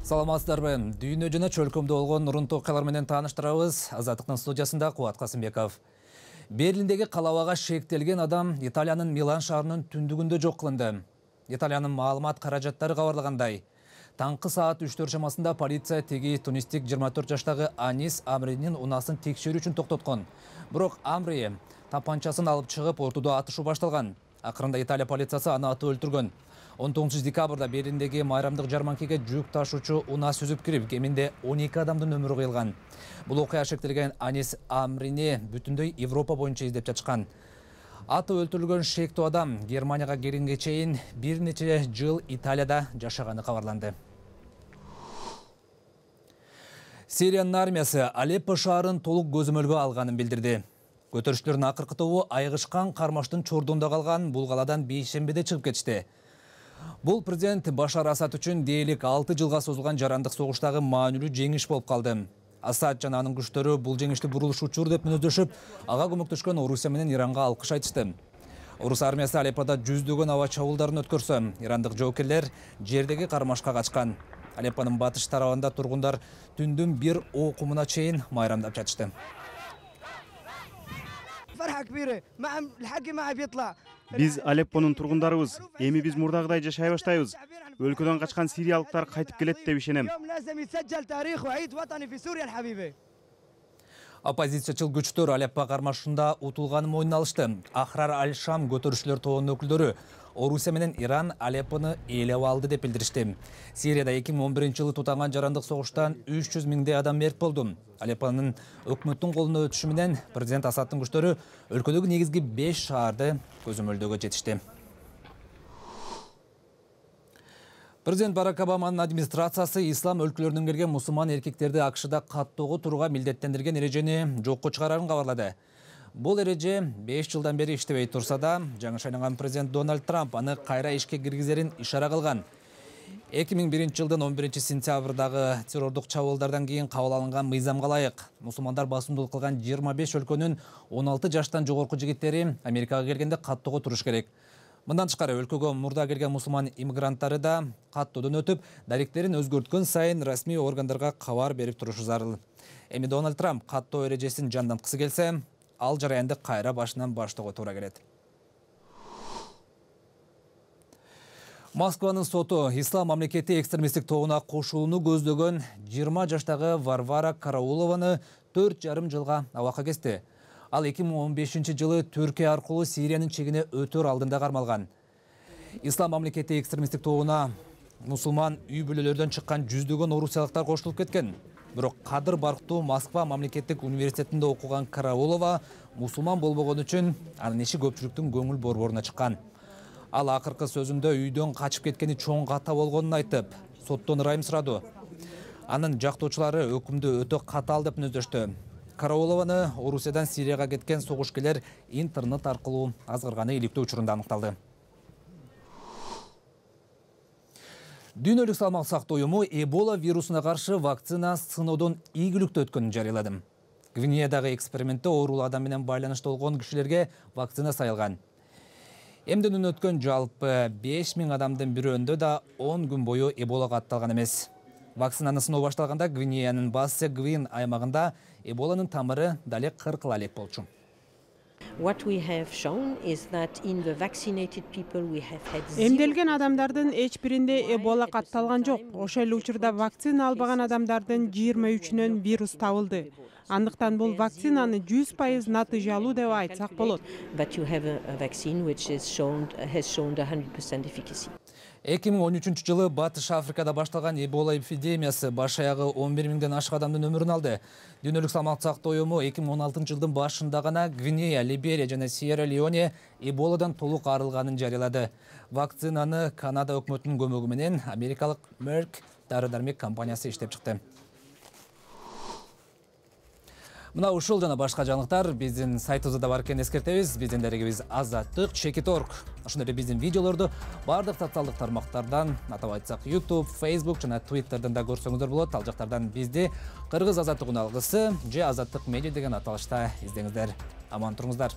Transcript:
Саламатсыздарбы? Дүйнө жана чөлкөмдө болгон нурун окуялар менен тааныштырабыз. Азаттыктын студиясында Кубат Касымбеков. Берлиндеги калабага шектелген адам Италиянын Милан шаарынын түндүгүндө жок кылынды. Италиянын маалымат каражаттары кабарлагандай, таңкы саат 3 чамасында полиция теги тунистик 24 жаштагы Анис Амринин унасын текшерүү үчүн токтоткон. Бирок Амри тапанчасын алып чыгып, ортодо атышуу башталган. Акырында Италия полициясы аны атып өлтүргөн. 19 декабрда Берлиндеги майрамдык жарманкеге жүк ташуучу унаа сүзүп кирип, кеминде 12 адамдын өмүрү кыйылган. Бул окуя шектелген Анис Амрини бүтүндөй Европа боюнча издеп жатышкан. Атып өлтүрүлгөн шектүү адам Германияга келгенге чейин бир нече жыл Италияда жашаганы кабарланды. Сириянын армиясы Алеппо шаарын толук көзөмөлгө алганын билдирди. Көтөрүшчүлөрдүн акыркы тобу айгышкан кармаштын чордуунда калган бул каладан бейшембиде чыгып кетишти. Бул президент Башар Асад үчүн дээрлик 6 жылга созулган жарандык согуштагы маанилүү жеңиш болуп калды. Асад жана анын күчтөрү бул жеңишти бурулуш деп мүнөздөшүп, ага көмөктөшкөн Орусия менен Иранга алкыш айтышты. Орус армиясы Алеппода жүздөгөн аба чабуулдарын өткөрсө, ирандык жоокерлер жердеги кармашка качкан. Алеппонун батыш тарабында тургундар түндүн бир окумуна чейин майрамдап жатышты. Биз Алеппонун тургундарыбыз, эми биз мурдагыдай жашай баштайбыз. Өлкөдөн качкан сириялыктар кайтып келет деп ишенем. Оппозициячыл күчтөр Алеппо кармашында утулганын мойнуна алышты. Ахрар Аль-Шам көтөрүшчүлөр тобунун өкүлдөрү Орусия менен Иран Алеппону ээлеп алды деп билдиришти. Сирияда 2011-жылы тутанган жарандык согуштан 300 миңдей адам мерт болду. Алеппонун өкмөттүн колуна өтүшү менен президент Асадтын күчтөрү өлкөдөгү негизги 5 шаарды көзөмөлдөөгө жетишти. Президент Барак Обаманын администрациясы ислам өлкөлөрүнөн келген мусулман эркектерди АКШда каттоого турууга милдеттендирген эрежени жокко чыгарарын кабарлады. Бул эреже 5 жылдан бери иштебей турса да, жаңы шайланган президент Дональд Трамп аны кайра ишке киргизерин ишара кылган. 2001-жылдын 11-сентябрдагы террордук чабуулдардан кийин кабыл алынган мыйзамга ылайык мусулмандар басымдуулук кылган 25 өлкөнүн 16 жаштан жогорку жигиттери Америкага келгенде каттоого туруш керек. Мындан тышкары өлкөгө мурда келген мусулман иммигранттары да каттоодон өтүп, даректерин өзгөрткөн сайын расмий органдарга кабар берип турушу зарыл. Эми Дональд Трамп каттоо эрежесин жанданткысы келсе, ал жараянды кайра башынан баштоого туура келет. Москванын соту Ислам мамлекети экстремисттик тобуна кошулууну көздөгөн 20 жаштагы Варвара Караулованы 4,5 жылга абакка кести. Ал 2015-жылы Түркия аркылуу Сириянын чегине өтөр алдында кармалган. Ислам мамлекети экстремисттик тобуна мусулман үй бүлөлөрдөн чыккан жүздөгөн орусиялыктар кошулуп кеткен. Бирок Кадыр Барктуу Москва мамлекеттик университетинде окуган Караулова мусулман болбогон үчүн анын иши көпчүлүктүн көңүл борборуна чыккан. Ал акыркы сөзүндө үйдөн качып кеткени чоң ката болгонун айтып, соттон ырайым сурады. Анын жактоочулары өкүмдү өтө катаал деп мүнөздөштү. Караулованы Орусиядан Сирияга кеткен согушкерлер интернет аркылуу азгырганы иликтөө учурунда аныкталды. Дүйнөлүк салмак сактоо уюму Эбола вирусуна каршы вакцина сыноодон ийгиликтүү өткөнүн жарыяладым. Гвинеядагы экспериментте оорулуу адам менен байланышта болгон кишилерге вакцина сайылган. Эмденүүдөн өткөн жалпы 5000 адамдын бирөөндө да 10 күн бою Эболага атталган эмес. Вакцинаны сыноо башталганда Гвинеянын Бассе-Гвин аймагында Эболанын тамыры дале 40 элек болчу. Эмделген адамдардын эч биринде Эбола катталган жок. Ошол эле учурда вакцина албаган адамдардын 23-үнөн вирус табылды. Андыктан бул вакцинаны 100% натыйжалуу деп айтсак болот. 2013-жылы Батыш Африкада башталган Эбола эпидемиясы баш аягы 11 миңден ашык адамдын өмүрүн алды. Дүйнөлүк салмак сактоо уюму 2016-жылдын башында гана Гвинея, Либерия жана Сьерра-Леоне Эболадан толук арылганын жарыялады. Вакцинаны Канада өкмөтүнүн көмөгү менен америкалык Merck дары-дармек компаниясы иштеп чыкты. Мына ушул жана башка жаңылыктар биздин сайтыбызда бар экенин эскертебиз. Биздин дарегибиз Азаттык /Чекит.org. Ошондой эле биздин видеолорду бардык социалдык тармактардан, атап айтсак YouTube, Facebook жана Twitter'дан да көрсөңүздөр болот. Ал жактардан бизди Кыргыз Азаттык уналгысы же Азаттык медиа деген аталышта издеңиздер. Аман туруңуздар.